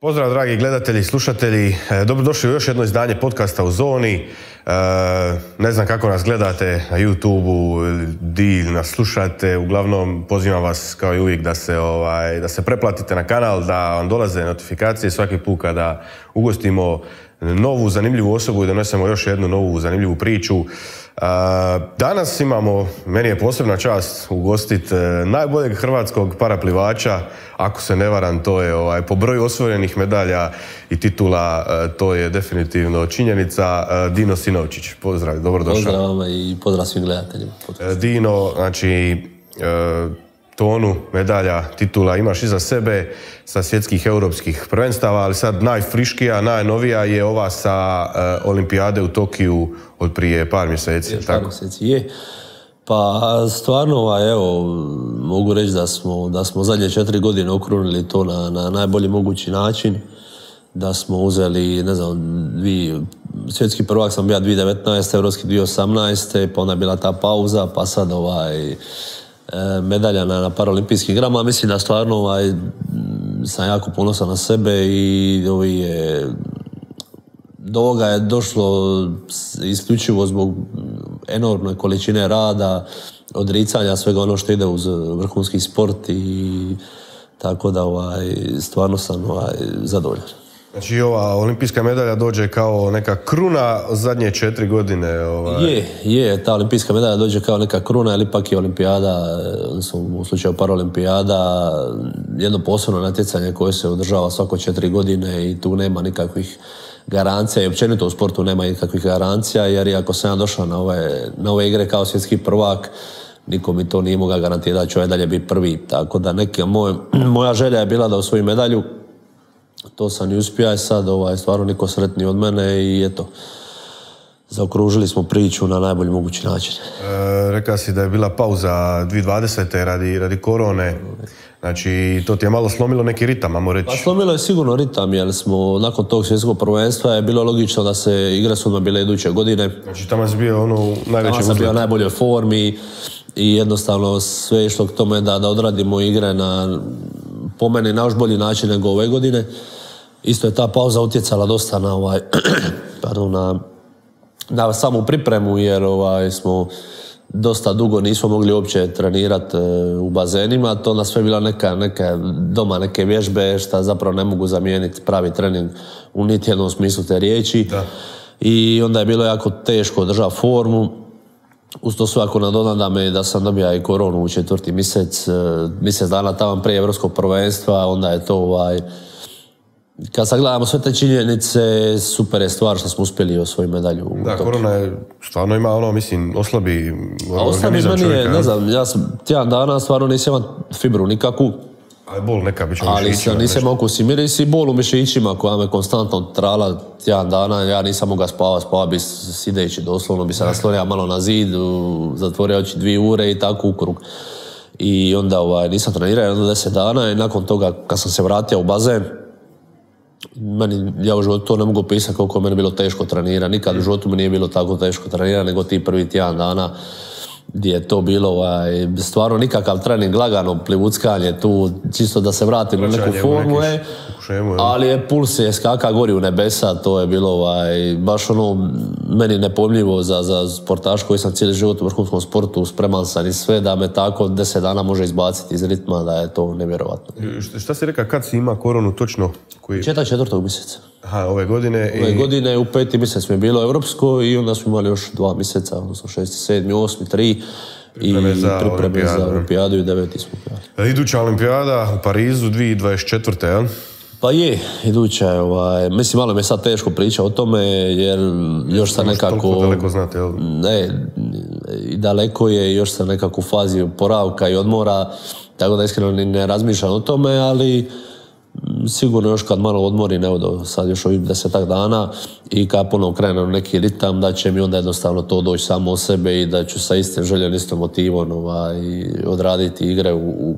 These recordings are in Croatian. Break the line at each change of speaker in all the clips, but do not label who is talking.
Pozdrav dragi gledatelji i slušatelji, dobrodošli u još jedno izdanje podcasta u Zoni. Ne znam kako nas gledate na YouTube-u, di nas slušate, uglavnom pozivam vas kao i uvijek da se preplatite na kanal, da vam dolaze notifikacije svaki put kada ugostimo novu zanimljivu osobu i donesemo još jednu novu zanimljivu priču. Danas imamo, meni je posebna čast ugostiti najboljeg hrvatskog paraplivača, ako se ne varam, to je po broju osvojenih medalja i titula, to je definitivno činjenica, Dino Sinovčić. Pozdrav, dobrodošao.
Pozdrav vama i pozdrav svim gledateljima.
Dino, znači, tonu medalja, titula imaš iza sebe sa svjetskih europskih prvenstava, ali sad najfriškija, najnovija je ova sa olimpijade u Tokiju od prije par mjeseci.
Par mjeseci, je. Pa stvarno, evo, mogu reći da smo zadnje 4 godine okrunili to na najbolji mogući način. Da smo uzeli, ne znam, svjetski prvak sam bio 2019. Europski 2018. Pa onda je bila ta pauza, pa sad medalja na paraolimpijskim igrama. Mislim da stvarno sam jako ponosan na sebe i do ovoga je došlo isključivo zbog enormne količine rada, odricanja, svega ono što ide uz vrhunski sport i tako da stvarno sam zadovoljan.
Znači ova olimpijska medalja dođe kao neka kruna zadnje 4 godine.
Je, ta olimpijska medalja dođe kao neka kruna, ali ipak je olimpijada, u slučaju paraolimpijada, jedno posebno natjecanje koje se održava svako 4 godine i tu nema nikakvih garancija i općenito u sportu nema nikakvih garancija, jer ako sam ja došao na ove igre kao svjetski prvak, niko mi to nije mogao garantirati da ću dalje biti prvi. Tako da moja želja je bila da osvojim medalju. To sam i uspio, sad stvarno niko sretniji od mene i eto, zaokružili smo priču na najbolji mogući način.
Rekao si da je bila pauza 2020. radi korone, znači to ti je malo slomilo neki ritam, ajmo reći.
Pa slomilo je sigurno ritam, jer smo nakon tog svjetskog prvenstva je bilo logično da se igre su bile iduće godine.
Znači tamo si bio najveći
uzlet. Tamo sam bio u najboljoj formi i jednostavno sve je išlo k tome da odradimo igre po meni na još bolji način nego ove godine. Isto je ta pauza utjecala dosta na samu pripremu, jer smo dosta dugo nismo mogli uopće trenirati u bazenima. To nas sve bila neke vježbe šta zapravo ne mogu zamijeniti pravi trening u niti jednom smislu te riječi. Da. I onda je bilo jako teško održati formu. Uz to svako nadonadam je da sam dobio i koronu u 4. mjesec dana tamo prije evropskog prvenstva, onda je to kad sagledamo sve te činjenice, super je stvar što smo uspjeli osvojiti medalju.
Da, korona je stvarno ima oslabi
organizam čovjeka. Ne znam, ja sam tjedan dana stvarno nisam imao fibru nikakvu.
Ali bol neka biće u mišićima.
Ali nisam okus i miris i bol u mišićima koja me konstantno trala tjedan dana. Ja nisam mogao spavati bi sideći doslovno, bi se naslonio malo na zid, zatvorio oči 2 ure i tako u krug. I onda nisam trenirao jedno 10 dana i nakon toga kad sam se vratio u bazen, ja u životu to ne mogu pisati koliko je meni bilo teško trenirati. Nikad u životu mi nije bilo tako teško trenirati nego ti prvi tjedan dana gdje je to bilo stvarno nikakav trening, lagano plivuckanje tu, čisto da se vratim na neku formu, ali je puls je skaka gori u nebesa, to je bilo baš meni nepojmljivo za sportaš koji sam cijeli život u vrhunskom sportu, spreman sam i sve, da me tako 10 dana može izbaciti iz ritma, da je to nevjerovatno.
Šta si rekao, kad si ima koronu točno?
4. mjeseca.
Aha, ove godine?
Ove godine u 5. mjesec mi je bilo evropsko i onda smo imali još 2 mjeseca, odnosno 6., 7., 8., 3 i pripreme za olimpijadu i 9. smo prijali.
Iduća olimpijada u Parizu 2024. jel?
Pa je, iduća je, mislim malo mi je sad teško pričati o tome jer još sam nekako...
Toliko daleko znate, jel?
Ne, daleko je, još sam nekako u fazi oporavka i odmora, tako da iskreno ne razmišljam o tome, ali sigurno još kad malo odmorim, evo sad još ovih 10 dana i kad ponovno krenem neki ritam, da će mi onda jednostavno to doći samo od sebe i da ću sa istim željom, istom motivom odraditi igre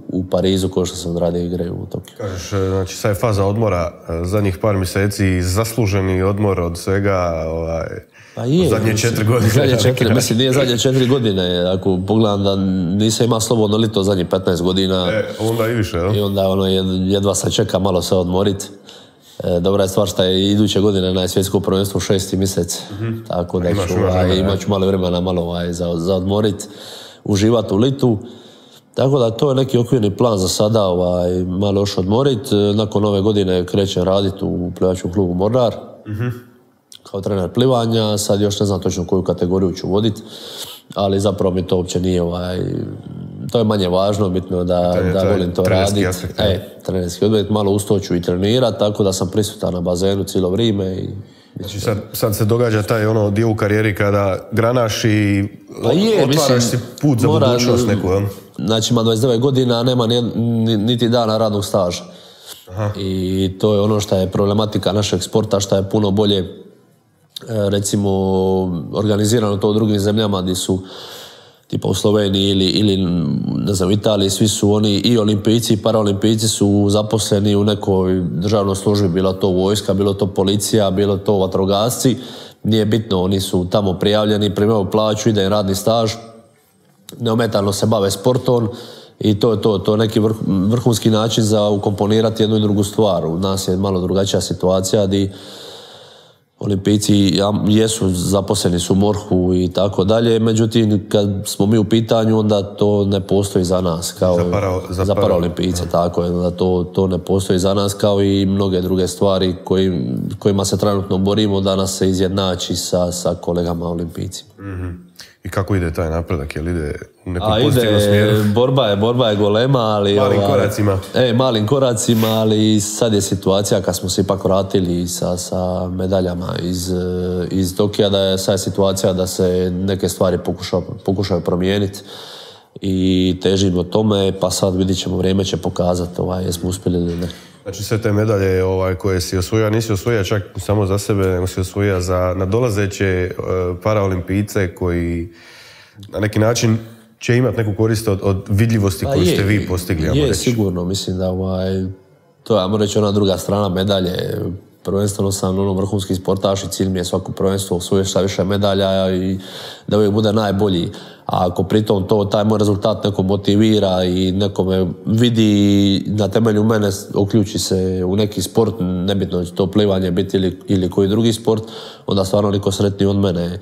u Parizu kao što sam odradio igre u Tokiju.
Kažeš, znači sad je faza odmora, zadnjih par mjeseci, zasluženi odmor od svega,
Pa je,
zadnje 4 godine.
Mislim, nije zadnje 4 godine. Ako pogledam da nisam imao slobodno lito zadnjih 15 godina.
Onda i više,
I onda jedva se čeka malo se odmoriti. Dobra je stvar što je iduće godine na svjetsko prvenstvo 6. mjesec. Tako da imat ću malo vremena za odmorit, uživati u litu. Tako da to je neki okvirni plan za sada, malo još odmorit. Nakon ove godine krećem raditi u plivačkom klubu Mornar. Kao trener plivanja, sad još ne znam točno koju kategoriju ću voditi, ali zapravo mi to uopće nije, to je manje važno, bitno da volim to raditi. Trenerski aspekt, malo uz to ću i trenirati, tako da sam prisutan na bazenu cijelo vrijeme.
Znači sad se događa taj dio u karijeri kada granaš i otvaraš si put za budućnost neku.
Znači ima 29 godina, nema niti dana radnog staža. I to je ono što je problematika našeg sporta, što je puno bolje recimo organizirano to u drugim zemljama gdje su tipa u Sloveniji ili ne znam, u Italiji, svi su oni i olimpijci i paraolimpijci su zaposleni u nekoj državnoj službi, bilo to vojska, bilo to policija, bilo to vatrogasci, nije bitno, oni su tamo prijavljeni, primaju plaću, ide radni staž, neometano se bave sportom i to je neki vrhunski način za ukomponirati jednu i drugu stvar. U nas je malo drugačija situacija gdje olimpijci jesu zaposleni su u MORH-u i tako dalje, međutim kad smo mi u pitanju onda to ne postoji za nas kao za paraolimpijce, tako je, da to ne postoji za nas kao i mnoge druge stvari kojima se trenutno borimo da nas se izjednači sa kolegama olimpijcima.
I kako ide taj napredak? Jel ide u nekom pozitivnom smjeru?
Borba je golema, ali malim koracima, ali sad je situacija kad smo se ipak vratili sa medaljama iz Tokija, da je sad situacija da se neke stvari pokušaju promijeniti i težimo tome, pa sad vidit ćemo, vrijeme će pokazati jesmo uspjeli ili ne.
Znači sve te medalje koje si osvojio, nisi osvojio čak samo za sebe, nego si osvojio za nadolazeće paraolimpijce koji na neki način će imati neku korist od vidljivosti koju ste vi postigli.
Je, sigurno, mislim da to je, ajmo reći, ona druga strana medalje. Prvenstveno sam vrhunski sportaš i cilj mi je svako prvenstvo osvojiti šta više medalja i da uvijek bude najbolji. A ako pritom taj moj rezultat neko motivira i nekome vidi na temelju mene uključi se u neki sport, nebitno će to plivanje biti ili koji drugi sport, onda stvarno niko sretniji od mene.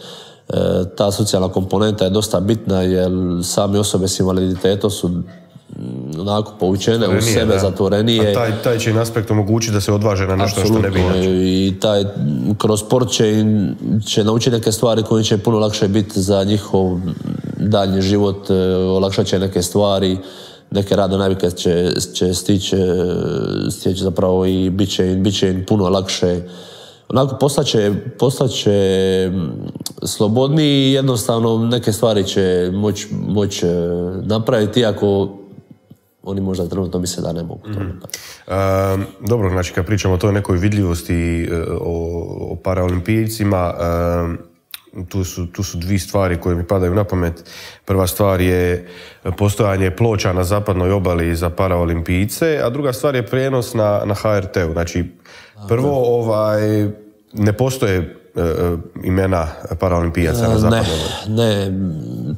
Ta socijalna komponenta je dosta bitna jer same osobe s invaliditetom su onako poučene u sebe, zatvorenije.
A taj će im aspekt omogućiti da se odvaže na nešto što ne bi inače.
I kroz sport će naučiti neke stvari koje će puno lakše biti za njihov daljnji život, olakšat će neke stvari, neke radne navike će stići zapravo i bit će im puno lakše. Onako postaće slobodniji i jednostavno neke stvari će moći napraviti, iako oni možda trenutno misle da ne mogu to.
Dobro, znači kad pričamo o toj nekoj vidljivosti o paraolimpijcima, tu su dvije stvari koje mi padaju na pamet. Prva stvar je postojanje ploča na zapadnoj obali za paraolimpijce, a druga stvar je prijenos na HRT-u. Znači, prvo ne postoje imena paraolimpijaca na zapadnoj obali.
Ne,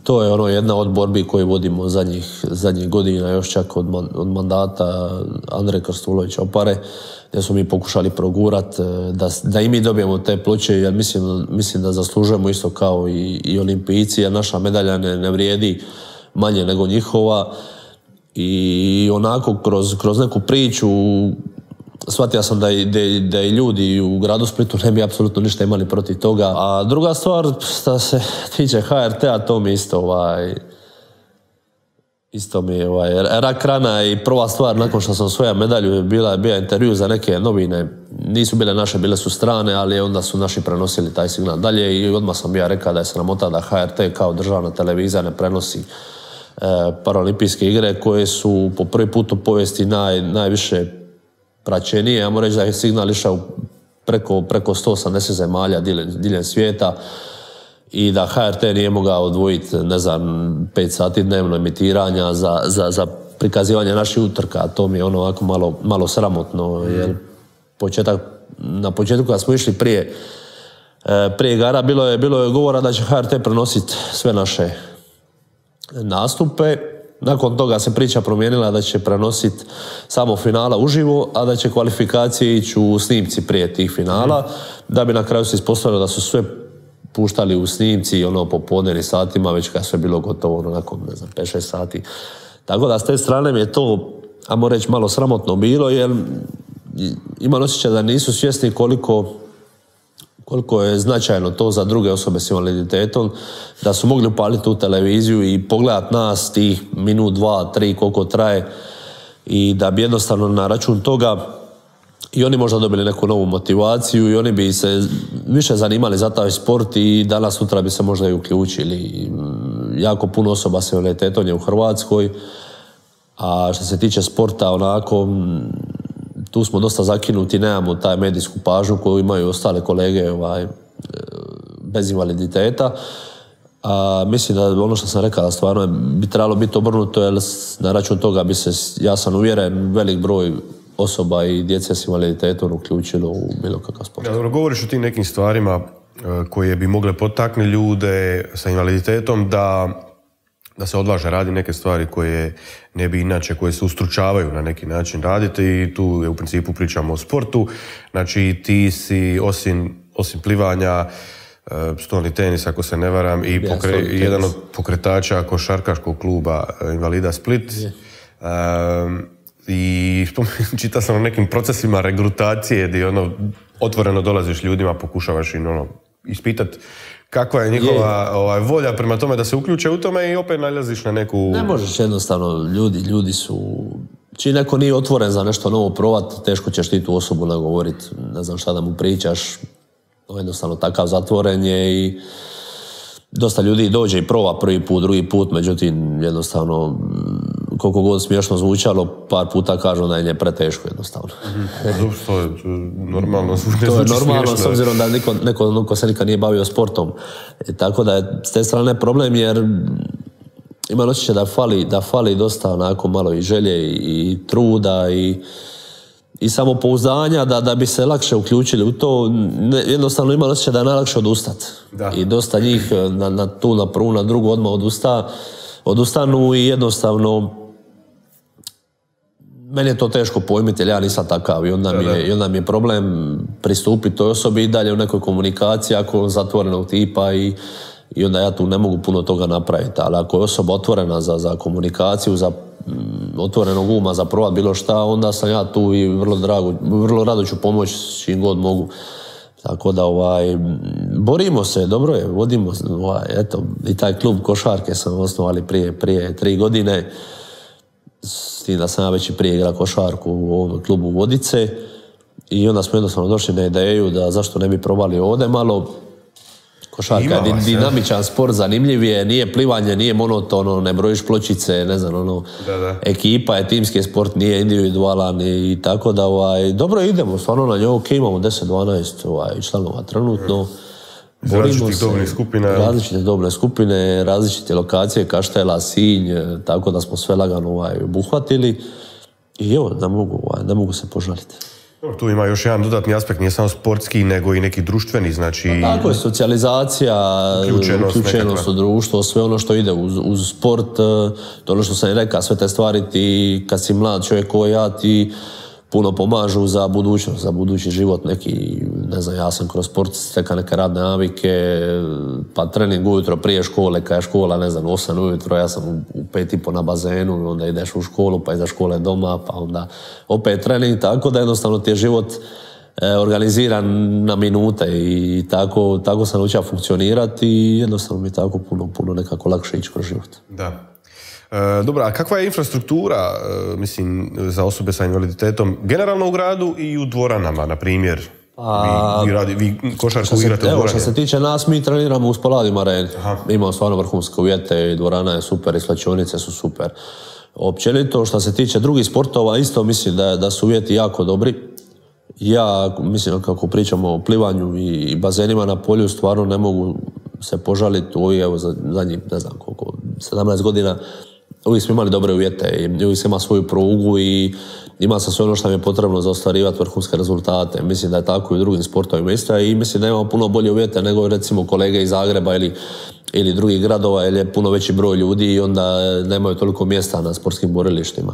to je jedna od borbi koju vodimo zadnjih godina, još čak od mandata Andreja Krstulovića Opare, gdje smo mi pokušali progurat da i mi dobijemo te ploče, jer mislim da zaslužujemo isto kao i olimpijci, jer naša medalja ne vrijedi manje nego njihova. I onako kroz neku priču shvatio sam da i ljudi u gradu Splitu ne bi apsolutno ništa imali protiv toga. A druga stvar, što se tiče HRT-a, to mi isto mi je rak rana i prva stvar nakon što sam osvojio medalju bio intervju za neke novine. Nisu bile naše, bile su strane, ali onda su naši prenosili taj signal dalje i odmah sam bio rekao da je sramota da HRT kao državna televizija ne prenosi paraolimpijske igre koje su po prvi put u povijesti najviše praćenije. Ja moram reći da je signal išao preko 180 zemalja diljem svijeta i da HRT nije mogao odvojiti, ne znam, 5 sati dnevno emitiranja za prikazivanje naših utrka. To mi je ono ovako malo sramotno, jer na početku kad smo išli prije igara bilo je govora da će HRT prenositi sve naše nastupe. Nakon toga se priča promijenila da će prenositi samo finala uživo, a da će kvalifikacije ići u snimci prije tih finala, da bi na kraju se ispostavilo da su sve puštali u snimci ono popodnevnim satima, već kad sve bilo gotovo nakon, ne znam, 5-6 sati. Tako da s te strane mi je to, ajmo reći, malo sramotno bilo, jer imam osjećaj da nisu svjesni koliko je značajno to za druge osobe s invaliditetom, da su mogli upaliti tu televiziju i pogledati nas tih minut, 2, 3, koliko traje, i da bi jednostavno na račun toga i oni možda dobili neku novu motivaciju i oni bi se više zanimali za taj sport i danas sutra bi se možda i uključili. Jako puno osoba s invaliditetom je u Hrvatskoj, a što se tiče sporta, onako, tu smo dosta zakinuti, nemamo taj medijsku pažnju koju imaju ostale kolege bez invaliditeta. Mislim da ono što sam rekao stvarno bi trebalo biti obrnuto, jer na račun toga bi se, ja sam uvjeren, velik broj osoba i djece s invaliditetom uključilo u bilo kakav sport.
Ja, govoriš o tim nekim stvarima koje bi mogle potaknuti ljude sa invaliditetom da se odvaže radi neke stvari koje ne bi inače, koje se ustručavaju na neki način raditi, i tu je u principu pričamo o sportu. Znači ti si osim plivanja, stolni tenis ako se ne varam, i jedan od pokretača košarkaškog kluba Invalida Split. I čitao sam o nekim procesima regrutacije gdje otvoreno dolaziš ljudima, pokušavaš im ispitati kakva je njihova volja prema tome da se uključe u tome, i opet nalaziš na neku...
Ne možeš jednostavno, ljudi su... Čim neko nije otvoren za nešto novo provat, teško ćeš ti tu osobu nagovoriti, ne znam šta da mu pričaš, jednostavno takav zatvoren je, i dosta ljudi dođe i prova prvi put, drugi put, međutim jednostavno, koliko god smiješno zvučalo, par puta kažu da je preteško jednostavno.
To je normalno.
To je normalno, s obzirom da neko se nikad nije bavio sportom. Tako da je s te strane problem, jer imam osjećaj da fali dosta onako malo i želje i truda i samopouzdanja da bi se lakše uključili u to. Jednostavno imam osjećaj da je najlakše odustati. I dosta njih na prvu, na drugu odmah odustanu, i jednostavno meni je to teško pojmiti, jer ja nisam takav, i onda mi je problem pristupiti toj osobi i dalje u nekoj komunikaciji ako zatvorenog tipa, i onda ja tu ne mogu puno toga napraviti. Ali ako je osoba otvorena za komunikaciju, za otvorenog uma, za provat bilo šta, onda sam ja tu i vrlo rado ću pomoći čim god mogu. Tako da borimo se, dobro je, vodimo, eto, i taj klub košarke sam osnovali prije 3 godine, s tim da sam ja već i prije igrao košarku u ovom klubu Vodice, i onda smo jednostavno došli na ideju da zašto ne bi probali ovdje malo. Košarka je dinamičan sport, zanimljiv je, nije plivanje, nije monotono, ne brojiš pločice, ne znam, ekipa je timski sport, nije individualan, i tako da dobro idemo, stvarno na njoj, imamo 10-12 članova trenutno. Različite dobne skupine, različite lokacije, Kaštela, Sinj, tako da smo sve lagano obuhvatili, i evo, ne mogu se požaliti.
Tu ima još jedan dodatni aspekt, nije samo sportski, nego i neki društveni, znači...
Tako je, socijalizacija, uključenost u društvo, sve ono što ide uz sport, to ono što sam i rekao, sve te stvari ti, kad si mlad čovjek ko ja, ti puno pomažu za budućnost, za budući život, neki, ne znam, ja sam kroz sport stekao neke radne navike, pa trening ujutro prije škole, kad je škola, ne znam, 8 ujutro, ja sam u 5:30 na bazenu, onda ideš u školu, pa iza škole doma, pa onda opet trening, tako da jednostavno ti je život organiziran na minute, i tako sam naučio funkcionirati, i jednostavno mi je tako puno nekako lakše ići kroz život.
Da. Dobro, a kakva je infrastruktura, mislim, za osobe sa invaliditetom, generalno u gradu i u dvoranama, na primjer? Vi košarku igrate u dvorani?
Što se tiče nas, mi treniramo u Spaladium areni. Imamo stvarno vrhunske uvjete, i dvorana je super, i svlačionice su super. Općenito, što se tiče drugih sportova, isto mislim da su uvjeti jako dobri. Ja mislim kako pričamo o plivanju i bazenima na polju, stvarno ne mogu se požaliti u evo zadnjih, ne znam koliko, 17 godina. Uvijek smo imali dobre uvjete i uvijek se ima svoju prugu i ima se sve ono što mi je potrebno za ostvarivati vrhunske rezultate. Mislim da je tako i u drugim sportovima isto i mislim da imamo puno bolje uvjete nego recimo kolege iz Zagreba ili drugih gradova, jer je puno veći broj ljudi i onda nemaju toliko mjesta na sportskim borilištima.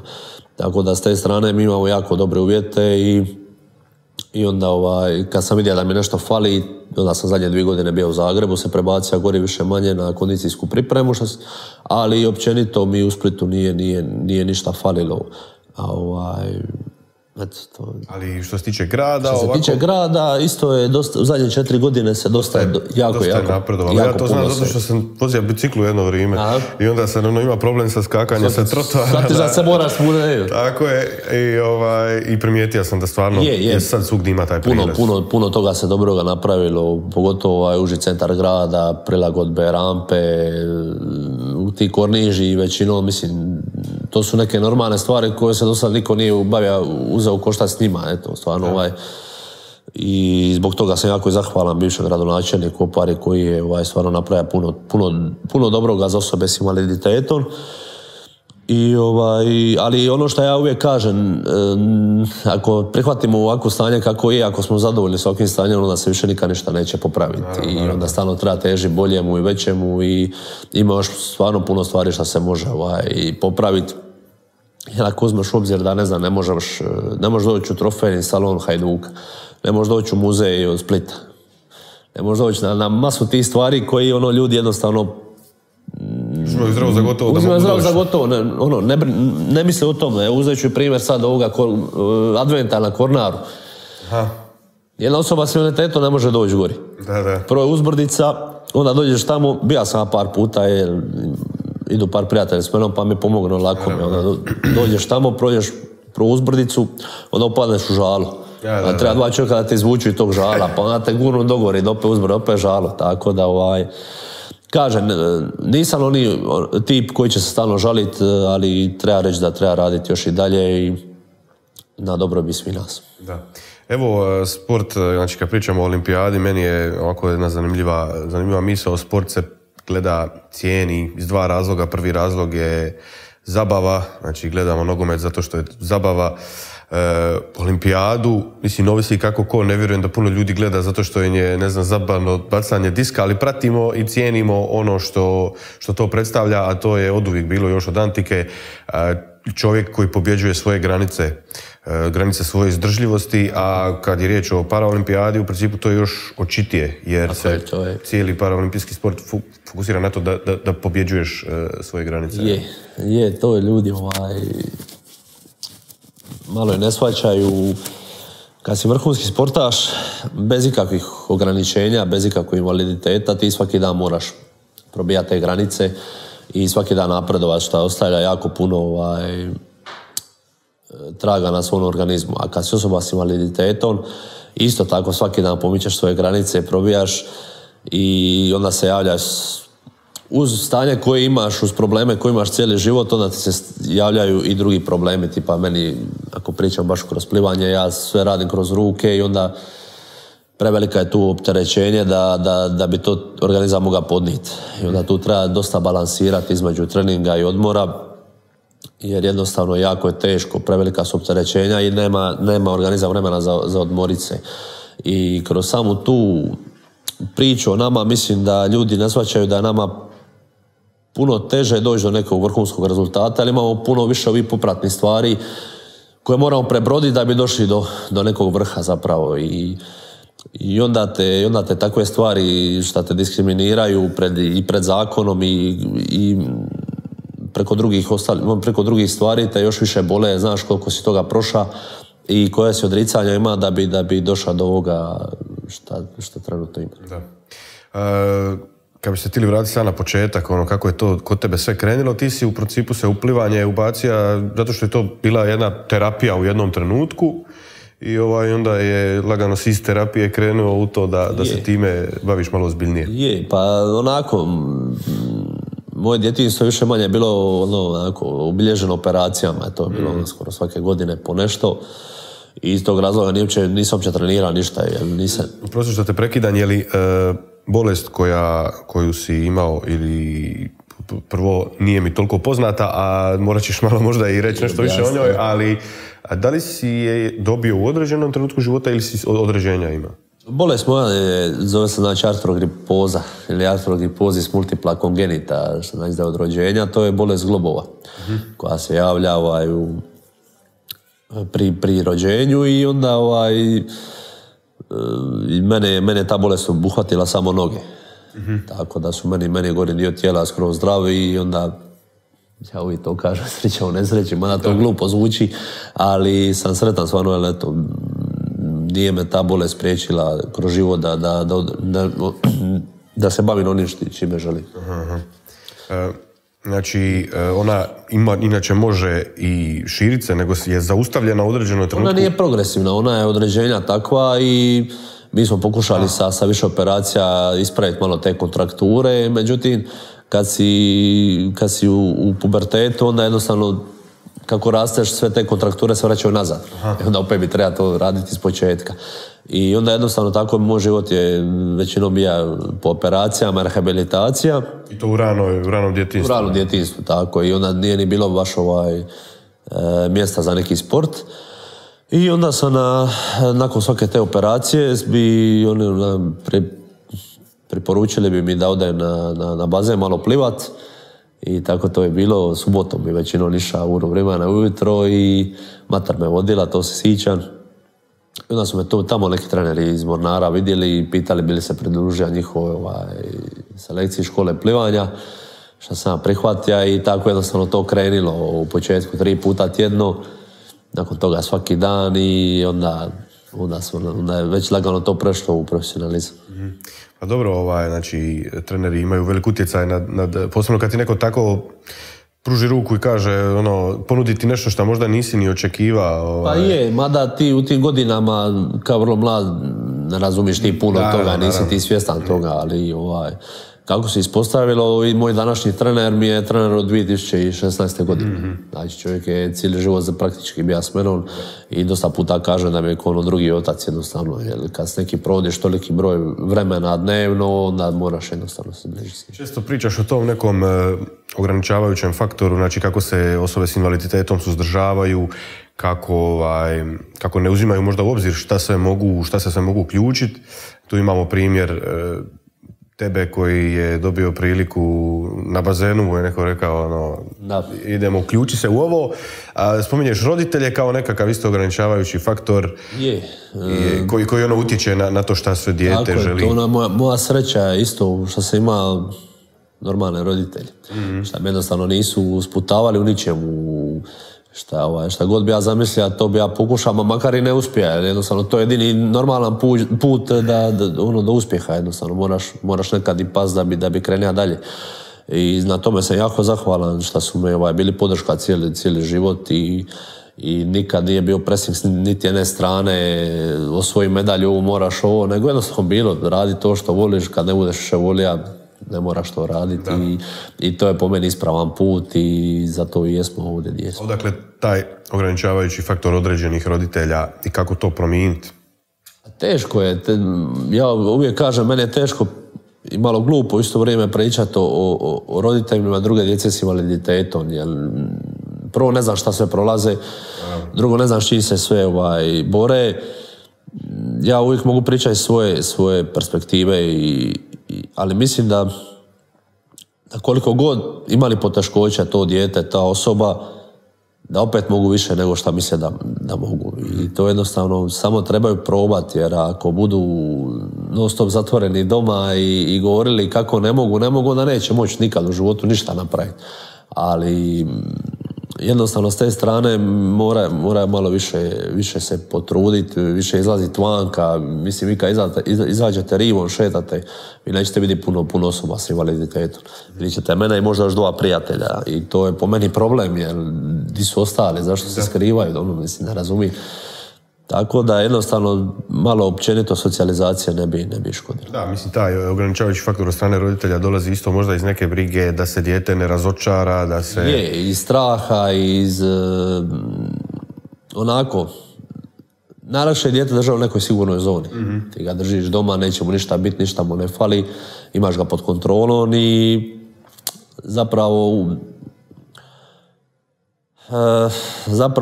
Tako da s te strane mi imamo jako dobre uvjete i onda kad sam vidio da mi nešto fali, onda sam zadnje 2 godine bio u Zagrebu, se prebacio gori više manje na kondicijsku pripremu, ali općenito mi u Splitu nije ništa falilo.
Ali što se tiče grada...
Što se tiče grada, isto je dosta, u zadnje 4 godine se dosta jako
napredovalo. Ja to znam zato što sam vozio biciklu jedno vrijeme i onda se ima problem sa skakanjem sa trotoara.
Shvatiš da se moraš svuda.
Tako je i primijetio sam da stvarno sad svugdje ima taj prilaz.
Puno toga se dobroga napravilo, pogotovo uži centar grada, prilagodbe, rampe, ti korniži, većinom, mislim, to su neke normalne stvari koje se do sad niko nije uzeo koštac s njima, eto, stvarno i zbog toga sam jako i zahvalan bivšem gradonačelniku Opari koji je stvarno napravio puno dobroga za osobe s invaliditetom. Ali ono što ja uvijek kažem, ako prihvatimo ovako stanje kako je, ako smo zadovoljni s ovakvim stanjem, onda se više nikad ništa neće popraviti. I onda stalno treba teži boljemu i većemu i ima još stvarno puno stvari što se može popraviti. Jer ako uzmeš u obzir da, ne znam, ne možeš doći u trofejni salon Hajduka, ne možeš doći u muzej od Splita, ne možeš doći na masu tih stvari koji ljudi jednostavno
uzimaju zdravo za gotovo.
Za gotovo, ne misle o tome. Uzet ću primjer sad ovoga adventa na Kornaru. Jedna osoba s invaliditetom ne može doći gori. Prvo je uzbrdica, onda dođeš tamo, bio sam par puta, idu par prijatelja s menom pa mi pomognu lako mi. Onda dođeš tamo, prođeš prvu uzbrdicu, onda upadneš u žalu. Treba 2 čovjeka da te izvuču iz tog žala, pa onda te gurnu dogori, da opet uzbrdi, opet žalo. Tako da kažem, nisam oni tip koji će se stalno žaliti, ali treba reći da treba raditi još i dalje i na dobrobit svih nas.
Da. Evo, sport, znači kad pričamo o olimpijadi, meni je ovako jedna zanimljiva misao. Sport se gleda, cijeni iz 2 razloga. Prvi razlog je zabava, znači gledamo nogomet zato što je zabava. Olimpijadu, mislim, ovisi kako ko, ne vjerujem da puno ljudi gleda zato što je, ne znam, zabavno bacanje diska, ali pratimo i cijenimo ono što to predstavlja, a to je oduvijek bilo još od antike. Čovjek koji pobjeđuje svoje granice svoje izdržljivosti, a kad je riječ o paraolimpijadi, u principu to je još očitije, jer se cijeli paraolimpijski sport fokusira na to da pobjeđuješ svoje granice.
To je ljudi malo je ne shvaćaju. Kad si vrhunski sportaš, bez ikakvih ograničenja, bez ikakvog invaliditeta, ti svaki dan moraš probijati te granice i svaki dan napredovati, što ostavlja jako puno traga na svom organizmu. A kad si osoba s invaliditetom, isto tako svaki dan pomičeš svoje granice, probijaš i onda se javljaš uz stanje koje imaš, uz probleme koje imaš cijeli život, onda ti se javljaju i drugi problemi, tipa meni, ako pričam baš kroz plivanje, ja sve radim kroz ruke i onda prevelika je tu opterećenje da bi to organizam mogao podnijeti. I onda tu treba dosta balansirati između treninga i odmora, jer jednostavno jako je teško, prevelika su opterećenja i nema organizam vremena za odmorit se. I kroz samu tu priču o nama, mislim da ljudi ne shvaćaju da je nama puno teže doći do nekog vrhunskog rezultata, ali imamo puno više ovih popratnih stvari koje moramo prebroditi da bi došli do nekog vrha zapravo. I onda te takve stvari što te diskriminiraju pred zakonom i preko drugih stvari te još više bole, znaš koliko si toga prošla i koje si odricanja ima da bi došla do ovoga što trenutno ima.
Da. Kad bi se htjeli vratiti sad na početak, kako je to kod tebe sve krenulo, ti si u principu se uplivanje ubacija zato što je to bila jedna terapija u jednom trenutku i onda je lagano si iz terapije krenuo u to da se time baviš malo ozbiljnije.
Pa onako, moje djetinjstvo više manje bilo obilježeno operacijama, to je bilo skoro svake godine po nešto. I iz tog razloga nisam uopće trenirao ništa.
Prosto što te prekidam, je li bolest koju si imao ili prvo nije mi toliko poznata, a morat ćeš malo možda i reći nešto više o njoj, ali da li si je dobio u određenom trenutku života ili si određenja ima?
Bolest moja zove se znači artrogripoza ili artrogriposis multipla congenita, što znači da je od rođenja. To je bolest globova koja se javlja pri rođenju i onda mene ta bolest obuhvatila samo noge. Tako da su meni gornji dio tijela skroz zdravi i onda, ja uvijek to kažem, sreća u nesreći, mada to glupo zvuči, ali sam sretan stvarno, jer eto, nije me ta bolest spriječila kroz život da se bavim onim čime želim.
Znači, ona inače može i širit se, nego je zaustavljena u određenoj trenutku?
Ona nije progresivna, ona je određenja takva i mi smo pokušali sa više operacija ispraviti malo te kontrakture, međutim, kad si u pubertetu, onda jednostavno kako rasteš, sve te kontrakture se vraćaju nazad. I onda opet bi treba to raditi iz početka. I onda jednostavno tako moj život je većinom bio po operacijama, rehabilitacija.
I to u ranom djetinjstvu?
U ranom djetinjstvu, tako. I onda nije ni bilo baš mjesta za neki sport. I onda sam nakon svake te operacije bi oni preporučili bi mi da odem na bazen malo plivat. I tako to je bilo. Subotom bi većinom išao u vremena ujutro i mater me vodila, to se sjećam. I onda su me tamo neki treneri iz Mornara vidjeli i pitali bili se pridružio njihove selekciji škole plivanja, što sam prihvatio i tako jednostavno to krenilo u početku 3 puta tjedno, nakon toga svaki dan i onda je već lagano to prešlo u profesionalizam.
Pa dobro, znači, treneri imaju velik utjecaj posebno kad ti neko tako pruži ruku i kaže, ponudi ti nešto što možda nisi ni očekivao.
Pa je, mada ti u tim godinama, kao vrlo mlad, ne razumiš ti puno toga, nisi ti svjestan toga, ali kako se ispostavilo, i moj današnji trener mi je trener od 2016. godine. Znači, čovjek je cijeli život praktički bio s menom i dosta puta kaže da mi je kao drugi otac jednostavno. Jer kad s neki provodiš toliki broj vremena dnevno, onda moraš jednostavno se bližiti.
Često pričaš o tom nekom ograničavajućem faktoru, znači kako se osobe s invaliditetom suzdržavaju, kako ne uzimaju možda u obzir šta se sve mogu uključiti. Tu imamo primjer tebe koji je dobio priliku na bazenu, je neko rekao, idemo, uključi se u ovo. Spominješ roditelje kao nekakav isto ograničavajući faktor koji utječe na to šta sve dijete želi.
Tako je, moja sreća je isto što sam imao normalne roditelje. Šta me jednostavno nisu sputavali u ničemu. Šta god bi ja zamislio, to bi ja pokušao, makar i ne uspije. Jednostavno, to je jedini normalan put do uspjeha. Jednostavno, moraš nekad i pas da bi krenio dalje. I na tome sam jako zahvalan što su me bili podrška cijeli život i nikad nije bio presing niti jedne strane, osvoji medalju, ovo moraš ovo, nego jednostavno bilo, radi to što voliš, kad ne budeš še volija, ne moraš to raditi i to je po meni ispravan put i zato i jesmo ovdje gdje jesmo.
Odakle taj ograničavajući faktor određenih roditelja i kako to promijeniti?
Teško je. Ja uvijek kažem, meni je teško i malo glupo u isto vrijeme pričati o roditeljima druge djece s invaliditetom. Jer prvo ne znam šta sve prolaze, drugo ne znam s čim se sve bore. Ja uvijek mogu pričati svoje perspektive ali mislim da koliko god imali poteškoća to dijete, ta osoba, da opet mogu više nego što misle da mogu. I to jednostavno samo trebaju probati, jer ako budu non stop zatvoreni doma i govorili kako ne mogu, onda neće moći nikad u životu ništa napraviti. Ali jednostavno s te strane mora malo više se potruditi, više izlaziti vanka. Mislim, vi kad izađete rivom, šetate, vi nećete vidjeti puno osoba s invaliditetom. Vidjet ćete mene i možda još 2 prijatelja. I to je po meni problem, jer di su ostali, zašto se skrivaju, mislim, ne razumijem. Tako da jednostavno malo općenito socijalizacija ne bi škodila.
Da, mislim, taj ograničavajući faktor od strane roditelja dolazi isto možda iz neke brige da se dijete ne razočara, da se...
Je, iz straha, iz onako najlakše je dijete držati u nekoj sigurnoj zoni. Ti ga držiš doma, neće mu ništa biti, ništa mu ne fali, imaš ga pod kontrolom i zapravo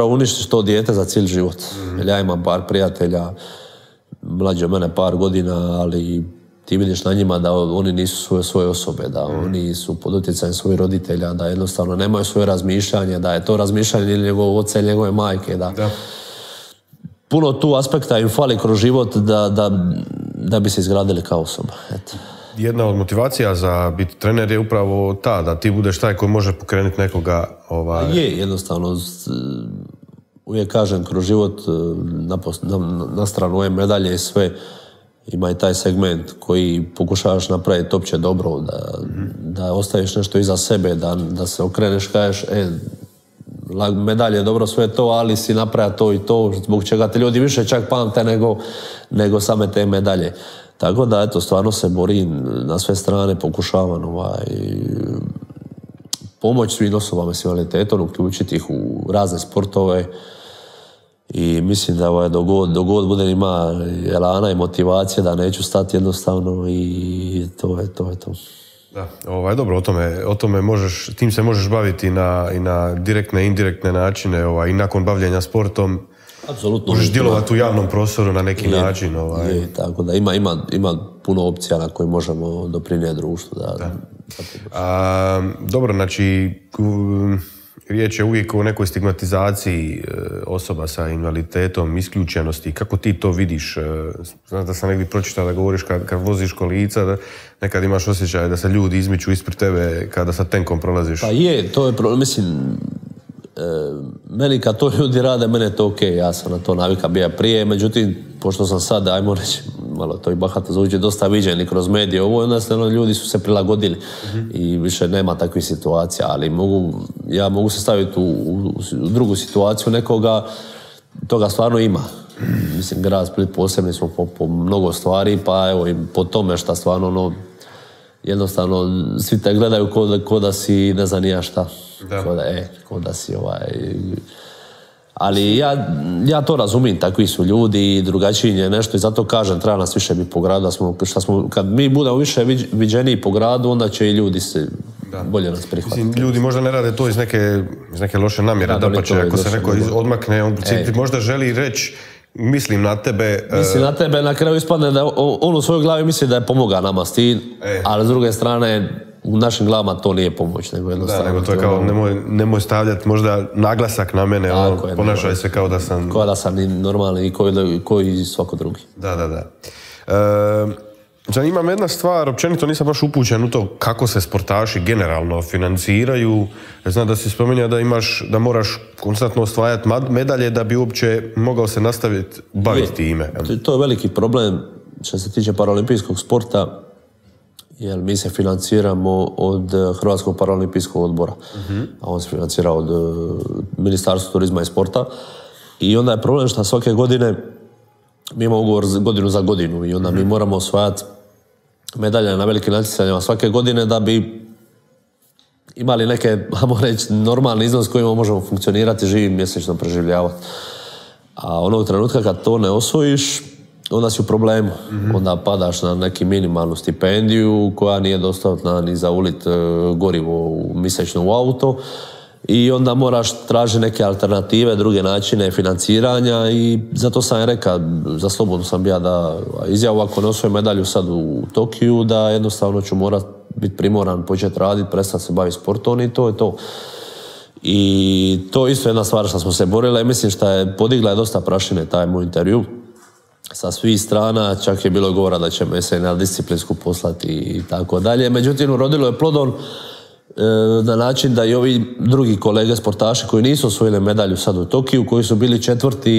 uništiš to dijete za cijeli život. Jer ja imam par prijatelja, mlađi od mene par godina, ali ti vidiš na njima da oni nisu svoje osobe, da oni su pod utjecajem svojih roditelja, da jednostavno nemaju svoje razmišljanje, da je to razmišljanje ili njegovog oca ili njegove majke. Da. Puno tu aspekta im fali kroz život da bi se izgradili kao osoba. Eto.
Jedna od motivacija za biti trener je upravo ta, da ti budeš taj koji može pokrenuti nekoga.
Je, jednostavno. Uvijek kažem, kroz život, na stranu ove medalje i sve, ima i taj segment koji pokušavaš napraviti opće dobro, da ostaviš nešto iza sebe, da se okreneš, kažeš, medalje je dobro sve to, ali si napravio to i to, zbog čega te ljudi više čak pamte nego same te medalje. Tako da, eto, stvarno se borim na sve strane, pokušavam pomoć svim osobama s invaliditetom, uključiti ih u razne sportove i mislim da dogod budem ima elana i motivacije da neću stati jednostavno i to je to.
Da, dobro, o tome možeš, tim se možeš baviti i na direktne i indirektne načine i nakon bavljenja sportom.
Apsolutno.
Možeš djelovati u javnom prostoru na neki način.
Tako da ima puno opcija na koje možemo doprinijeti društvu.
Dobro, znači riječ je uvijek o nekoj stigmatizaciji osoba sa invaliditetom, isključenosti. Kako ti to vidiš? Znaš da sam negdje pročitao da govoriš kad voziš kolica, da nekad imaš osjećaj da se ljudi izmiču ispred tebe kada sa tenkom prolaziš.
Pa je, to je problem. Mislim, meni kad to ljudi rade, mene je to ok, ja sam na to navika bio prije, međutim, pošto sam sad, ajmo reći, malo to i bahato zvuči, dosta viđeni kroz medije, jednostavno ljudi su se prilagodili i više nema takvih situacija, ali ja mogu se staviti u drugu situaciju nekoga, toga stvarno ima. Mislim, grad Split posebni smo po mnogo stvari, pa evo i po tome šta stvarno jednostavno svi te gledaju ko da si ne znam nija šta. Ko da si Ali ja to razumijem, takvi su ljudi i drugačiji je nešto i zato kažem, treba nas više biti po gradu. Kad mi budemo više viđeniji po gradu, onda će i ljudi se bolje nas prihvatiti.
Mislim, ljudi možda ne rade to iz neke loše namjere, dapače, ako se neko odmakne, on možda želi reći mislim na tebe.
Mislim na tebe, na kraju ispadne da on u svojoj glavi misli da je pomogao nama s tim, ali s druge strane u našim glavama to nije pomoć, nego jednostavno.
Da, nego to je kao nemoj stavljati možda naglasak na mene, ponašaj se kao da sam...
Kao da sam normalni i koji svako drugi.
Da. Zanima me jedna stvar, općenito nisam baš upućen u to kako se sportaši generalno financiraju. Znam da si spominjao da moraš konstantno osvajati medalje da bi uopće mogao se nastaviti baviti time.
To je veliki problem što se tiče paraolimpijskog sporta, jer mi se financiramo od Hrvatskog paraolimpijskog odbora, a on se financira od Ministarstva turizma i sporta. I onda je problem što svake godine mi imamo ugovor godinu za godinu i onda mi moramo osvajati medalje na velikim natjecanjima svake godine da bi imali neke, ajmo reći, normalni iznos kojima možemo funkcionirati, živim, mjesečno preživljavati. A onog trenutka kad to ne osvojiš, onda si u problemu. Onda padaš na neki minimalnu stipendiju koja nije dostatna ni za ulit gorivo mjesečno u auto i onda moraš tražiti neke alternative, druge načine financiranja i zato sam rekao, za slobodno sam bio da izjavu ako ne osvojim medalju sad u Tokiju, da jednostavno ću morat biti primoran, početi raditi, prestati se baviti sportom i to je to. I to je isto jedna stvar što smo se borili, mislim što je podigla dosta prašine taj moj intervju sa svih strana, čak je bilo govora da će me se na disciplinsku poslati i tako dalje. Međutim, urodilo je plodom na način da i ovi drugi kolege sportaši koji nisu osvojili medalju sad u Tokiju, koji su bili četvrti,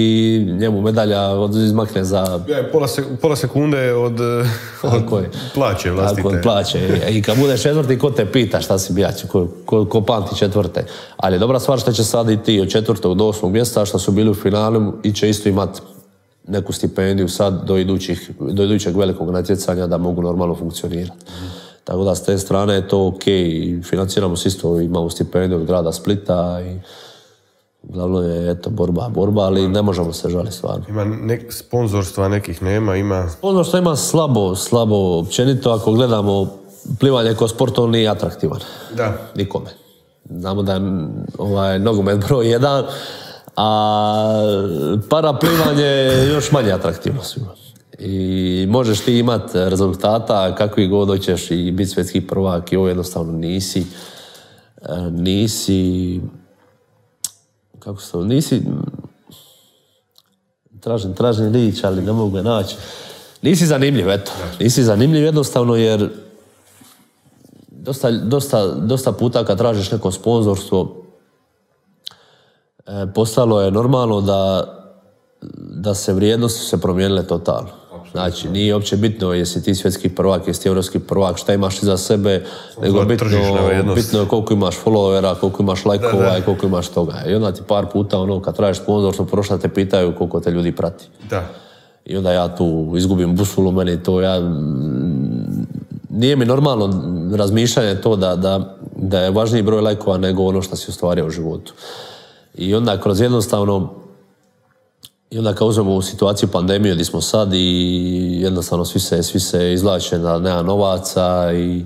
njemu medalja izmakne za...
Pola sekunde od plaće vlastite.
Tako, od plaće. I kad budeš četvrti, ko te pita šta si bijaći, ko pamti četvrte. Ali je dobra stvar što će sad i ti od 4. do 8. mjesta, što su bili u finalu i će isto imati neku stipendiju sad do idućeg velikog natjecanja da mogu normalno funkcionirati. Tako da s te strane je to ok, financiramo se isto, imamo stipendiju od grada Splita i Glavno je, eto, borba, ali ne možemo se žaliti stvarno.
Ima sponzorstva nekih nema, ima...
Sponzorstva ima slabo općenito, ako gledamo plivanje kao sport, on nije atraktivan.
Da.
Nikome. Znamo da je nogomet broj 1, a paraplivanje je još manje atraktivno svima. I možeš ti imati rezultata kakvi god hoćeš i biti svjetski prvak i ovo jednostavno nisi kako se to, tražim riječ, ali ne mogu ga naći. Nisi zanimljiv, eto. Nisi zanimljiv jednostavno jer dosta puta kad tražiš neko sponzorstvo postalo je normalno da se vrijednosti se promijenile totalno. Znači, nije uopće bitno jesi ti svjetski prvak, jesi ti evropski prvak, šta imaš iza sebe, nego bitno je koliko imaš followera, koliko imaš lajkova i koliko imaš toga. I onda ti par puta, kad tražiš sponzorstvo, prošla te pitaju koliko te ljudi prati.
Da.
I onda ja tu izgubim busulu, meni to, nije mi normalno razmišljanje to da je važniji broj lajkova nego ono što si ostvario u životu. I onda kroz jednostavno, i onda kad uzmemo u situaciju pandemije gdje smo sad i jednostavno svi se izvlače da nema novaca i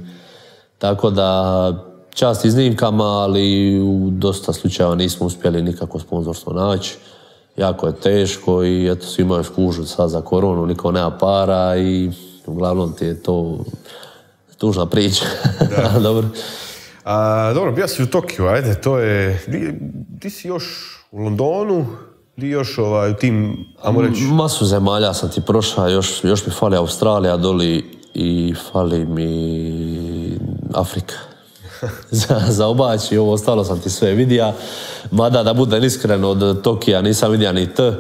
tako da čast iznimkama, ali u dosta slučajeva nismo uspjeli nikako sponzorstvo naći. Jako je teško i eto, svi imaju skužu sad za koronu, niko nema para i uglavnom ti je to tužna priča. Dobro.
Dobro, bio si u Tokiju, ajde, to je... Ti si još u Londonu, ti još u tim, ajmo reći...
Masu zemalja sam ti prošao, još mi fali Australija doli i fali mi Afrika. za obaći, ovo ostalo sam ti sve vidio. Mada da budem iskren, od Tokija nisam vidio ni T,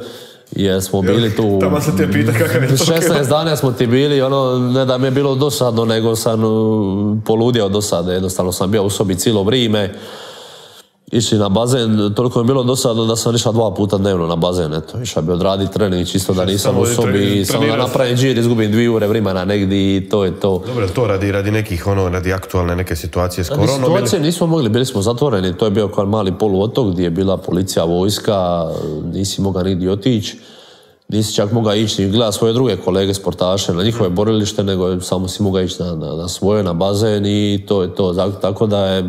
jer smo bili tu...
Tamo se te pita kakav je Tokio.
16 dana smo ti bili, ne da mi je bilo dosadno, nego sam poludio dosade. Jednostavno sam bio u sobi cijelo vrijeme. Išli na bazen, toliko je bilo dosadno da sam išao 2 puta dnevno na bazen. Eto, išao bi odraditi trening čisto da nisam u sobi i samo da napravim džir, izgubim 2 ure vremena negdje i to je to.
Dobro, to radi nekih, radi aktualne neke situacije s koronom?
Situacije nismo mogli, bili smo zatvoreni, to je bio kao mali poluotok gdje je bila policija, vojska, nisi mogao nigdje otići. Nisi čak mogao ići ni gledati svoje druge kolege sportaše na njihove borilište, nego samo si mogao ići na svoje, na bazen i to je to. Tako da je,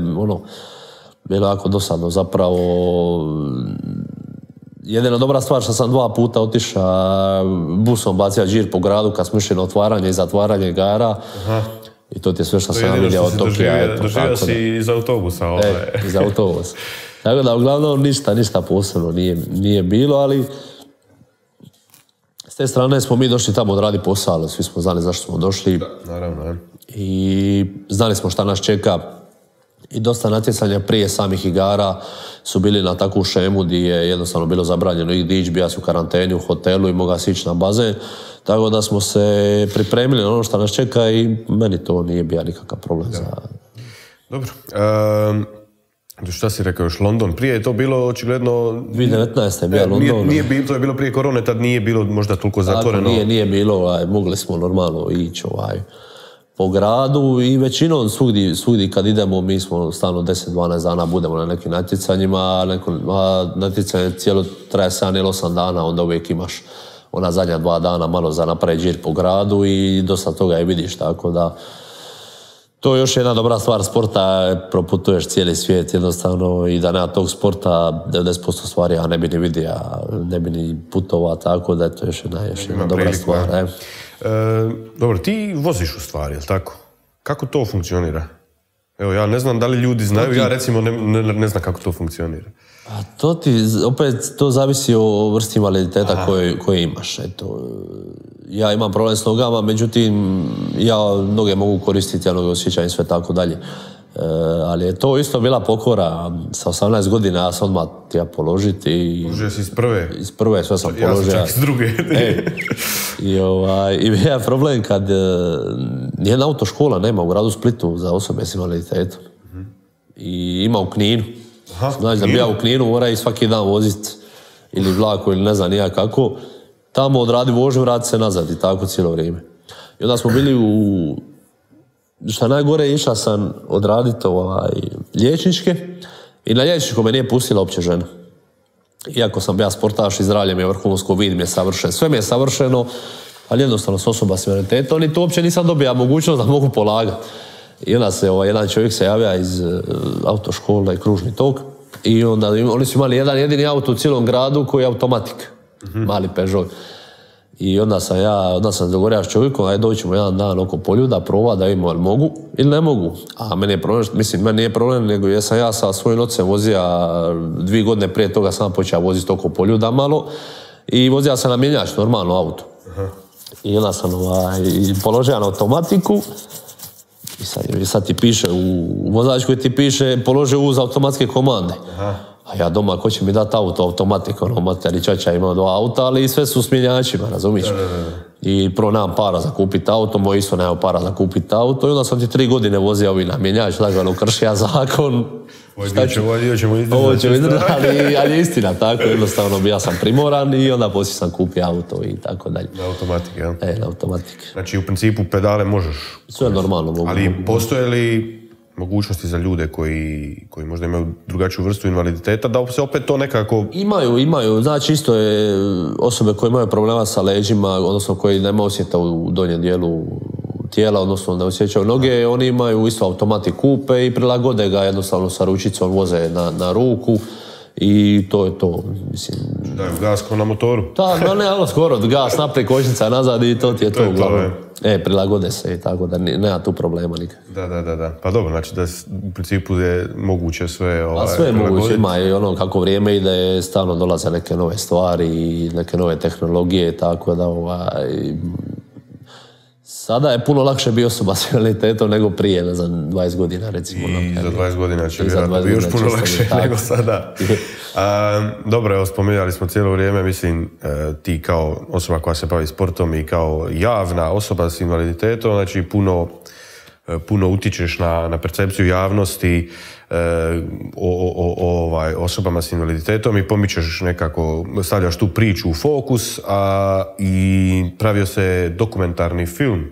bilo jako dosadno zapravo. Jedina dobra stvar što sam 2 puta otišao busom bacio džir po gradu kad smo išli na otvaranje i zatvaranje igara. I to ti je sve što sam vidio od Tokija.
Doživio si iz autobusa.
Iz autobusa. Tako da uglavnom ništa posebno nije bilo, ali s te strane smo mi došli tamo odraditi posao, ali svi smo znali zašto smo došli.
Da, naravno.
I znali smo šta nas čeka. I dosta natjecanja prije samih igara su bili na takvu šemu gdje je jednostavno bilo zabranjeno ići, bija su u karanteni u hotelu i mogao si ići na bazen. Tako da smo se pripremili na ono što nas čeka i meni to nije bio nikakav problem.
Dobro. Šta si rekao još, London? Prije je to bilo očigledno...
2019. je bio London.
To je bilo prije korone, tad nije bilo možda toliko zatvoreno.
Nije bilo, mogli smo normalno ići po gradu i većinom svugdje kad idemo mi smo stalno 10-12 dana budemo na nekim natjecanjima, a natjecanje cijelo traje 7 ili 8 dana, onda uvijek imaš ona zadnja 2 dana malo za napraviti džir po gradu i dosta toga i vidiš, tako da to je još jedna dobra stvar sporta, proputuješ cijeli svijet jednostavno i da nema tog sporta 90% stvari ja ne bi ni vidio, ne bi ni putovao, tako da je to još jedna dobra stvar.
Dobro, ti voziš u stvari, je li tako? Kako to funkcionira? Evo, ja ne znam da li ljudi znaju, ja recimo ne znam kako to funkcionira.
A to zavisi o vrsti invaliditeta koje imaš. Eto, ja imam problem s nogama, međutim, ja noge mogu koristiti, ja noge osjećam i sve tako dalje. Ali je to isto bila pokora. Sa 18 godina ja sam odmah tija položiti.
Položio si iz prve?
Iz prve, sve sam položio.
Ja sam čak iz druge.
I bio je problem kad nijedna autoškola nema u gradu Splitu za osobe s invaliditetom. I ima u Kninu. Znači da bi ja u Kninu mora i svaki dan voziti ili vlaku ili ne znam nija kako. Tamo odradi vožnju, vrati se nazad i tako cijelo vrijeme. I onda smo bili šta najgore, išla sam odraditi liječničke i na liječničko me nije pustila uopće žena. Iako sam ja sportaš i zdravlje mi je vrhunsko, vid mi je savršen, sve mi je savršeno, ali jednostavno s osoba s invaliditetom i tu uopće nisam dobio mogućnost da mogu polagati. I onda se jedan čovjek se javlja iz autoškole, kružni tok, i onda oni su imali jedan jedini auto u cijelom gradu koji je automatik, mali Peugeot. I onda sam dogovorio s čovjekom, ajde doćemo jedan dan oko Poljuda, proba da vidimo jel mogu ili ne mogu. A meni je problem, meni nije problem, nego jesam ja sa svojim ocem vozio 2 godine prije toga sam počeo voziti oko Poljuda malo i vozio sam na mjenjač, normalno auto. I onda sam položio na automatiku i sad ti piše, u vozačkoj ti piše položi uz automatske komande. A ja doma, ko će mi dati auto, automatik, materi čača ima 2 auta, ali sve su s mjenjačima, razumiješ? I prvo nemam para za kupiti auto, moj isto nema para za kupiti auto, i onda sam ti 3 godine vozio ovi na mjenjač, lagano kršija zakon.
Ovo ćemo
izdržati, ali je istina, tako, jednostavno ja sam primoran i onda poslije sam kupio auto i tako dalje.
Na automatik, jel?
Na automatik.
Znači, u principu pedale možeš?
Sve normalno mogu.
Ali postoje li mogućnosti za ljude koji možda imaju drugačiju vrstu invaliditeta, da se opet to nekako...
Imaju. Znači, isto je osobe koje imaju problema sa leđima, odnosno koji nema osjeta u donjem dijelu tijela, odnosno ne osjećaju noge, oni imaju isto automatik kupe i prilagode ga jednostavno sa ručicom, voze na ruku i to je to, mislim...
Daju gas ko na motoru.
Da, ne, skoro, gas naprijed, kočnica nazad i to ti je to uglavnom. Prilagode se i tako da nema tu problema nikad.
Da. Pa dobro, znači da u principu je moguće sve
sve je moguće, ima i ono kako vrijeme ide, stalno dolaze neke nove stvari i neke nove tehnologije, tako da sada je puno lakše biti osoba s invaliditetom nego prije, ne znam, 20 godina recimo.
I za 20 godina će vjerojatno biti još puno lakše nego sada. Dobro, evo, spominjali smo cijelo vrijeme, mislim, ti kao osoba koja se bavi sportom i kao javna osoba s invaliditetom, znači puno utičeš na percepciju javnosti o osobama s invaliditetom i pomičeš nekako, stavljaš tu priču u fokus, i pravio se dokumentarni film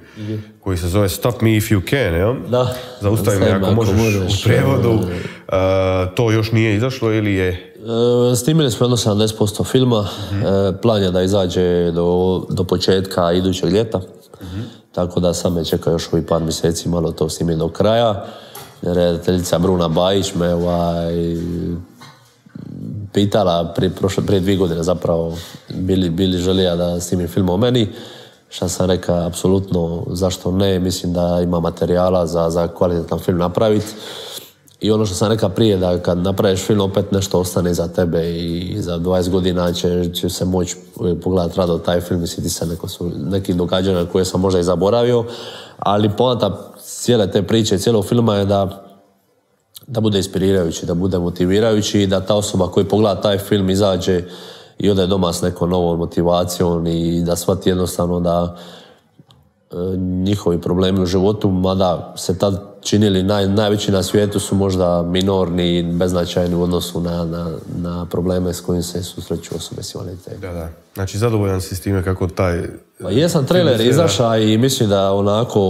koji se zove Stop Me If You Can, jel?
Da.
Zaustavi me ako možeš u prijevodu. To još nije izašlo ili je?
Snimili smo jedno 70% filma. Plan je da izađe do početka idućeg ljeta. Tako da sad me čeka još ovih par mjeseci malo to snimiti do kraja. Redateljica Bruna Bajić me pitala prije 2 godine zapravo bili želija da snimim film o meni. Šta sam rekao, apsolutno zašto ne, mislim da ima materijala za kvalitetan film napraviti. I ono što sam rekao prije, da kad napraviš film opet nešto ostane za tebe i za 20 godina će se moći pogledati rado taj film i sjetiti se nekih događanja koje sam možda i zaboravio, ali poanta cijele te priče, cijelog filma je da bude inspirirajući, da bude motivirajući i da ta osoba koja pogleda taj film izađe i ode doma s nekom novom motivacijom i da shvati jednostavno da njihovi problemi u životu, mada se tad činili najveći na svijetu, su možda minorni i beznačajni u odnosu na probleme s kojim se susreću osobe s invaliditetom.
Da. Znači, zadovoljan si s time kako taj...
Pa jesam, trailer izašao i mislim da onako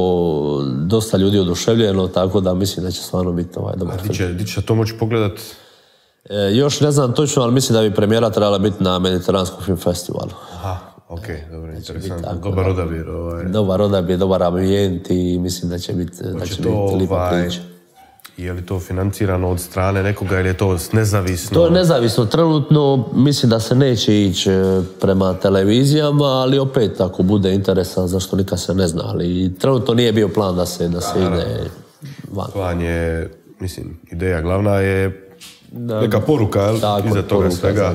dosta ljudi oduševljeno, tako da mislim da će stvarno biti dobar film.
Di će to moći pogledat?
Još ne znam točno, ali mislim da bi premijera trebala biti na Mediteranskom film festivalu.
Aha, ok, dobro, interesantno. Dobar odabir.
Dobar odabir, dobar ambijent i mislim da će biti lipa priča.
Je li to financirano od strane nekoga ili je to nezavisno?
To je nezavisno. Trenutno mislim da se neće ići prema televizijama, ali opet ako bude interesa, zašto nikad se ne zna. Ali trenutno nije bio plan da se ide van.
Plan je, mislim, ideja glavna je neka poruka iza toga svega.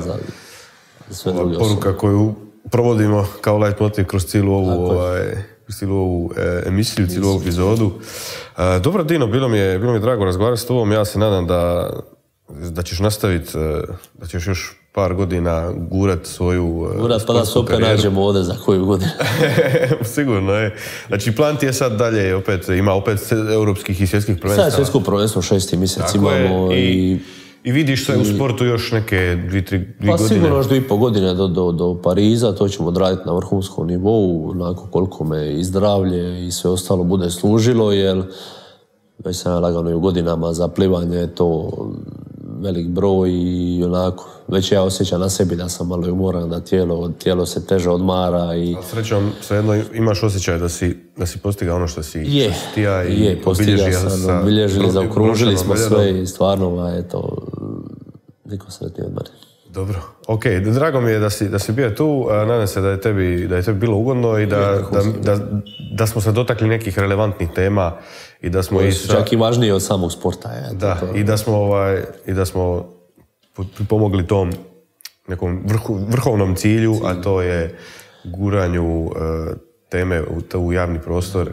Poruka koju provodimo kao leitmotiv kroz cijelu ovu emisiju, cijelu ovu epizodu. Dobro, Dino, bilo mi je drago razgovarati s tobom. Ja se nadam da ćeš nastaviti, da ćeš još par godina gurat svoju
pa da se opet nađemo ovdje za koju godinu.
Sigurno je. Znači, plan ti je sad dalje, ima opet europskih i svjetskih prvenstava.
Sad svjetsko prvenstvo 6. mjesec imamo
i vidiš se u sportu još neke 2-3 godine?
Pa sigurno još 2,5 godine do Pariza, to ćemo odraditi na vrhunskom nivou, onako koliko me i zdravlje i sve ostalo bude služilo, jer već sam lagano i u godinama za plivanje, to velik broj i onako, već ja osjećam na sebi da sam malo umoran, da tijelo se teže odmara. I...
A srećom, svejedno imaš osjećaj da si postigao ono što si htio i
obilježili, zaokružili smo sve i stvarno, eto, niko sretniji od mene.
Dobro, ok, drago mi je da si bio tu, nadam se da je tebi bilo ugodno i da smo se dotakli nekih relevantnih tema i da smo
čak i važnije od samog sporta.
I da smo pomogli tom nekom vrhovnom cilju, a to je guranju teme u javni prostor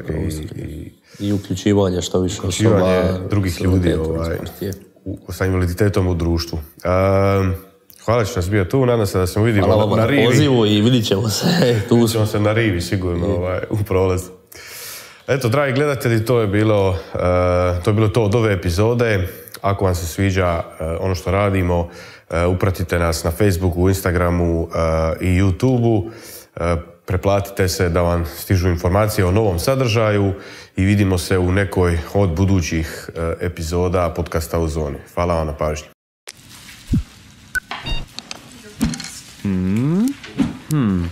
i uključivanje što više
osoba drugih ljudi sa invaliditetom u društvu. Hvala što nas bio tu, nadam se da se vidimo na rivi.
Hvala vam na pozivu i vidit ćemo se.
Vidit ćemo se na rivi sigurno u prolazu. Eto, dragi gledatelji, to je bilo to od ove epizode. Ako vam se sviđa ono što radimo, upratite nas na Facebooku, Instagramu i YouTubeu. Preplatite se da vam stižu informacije o novom sadržaju i vidimo se u nekoj od budućih epizoda podcasta u zoni. Hvala vam na pažnji. Hmm.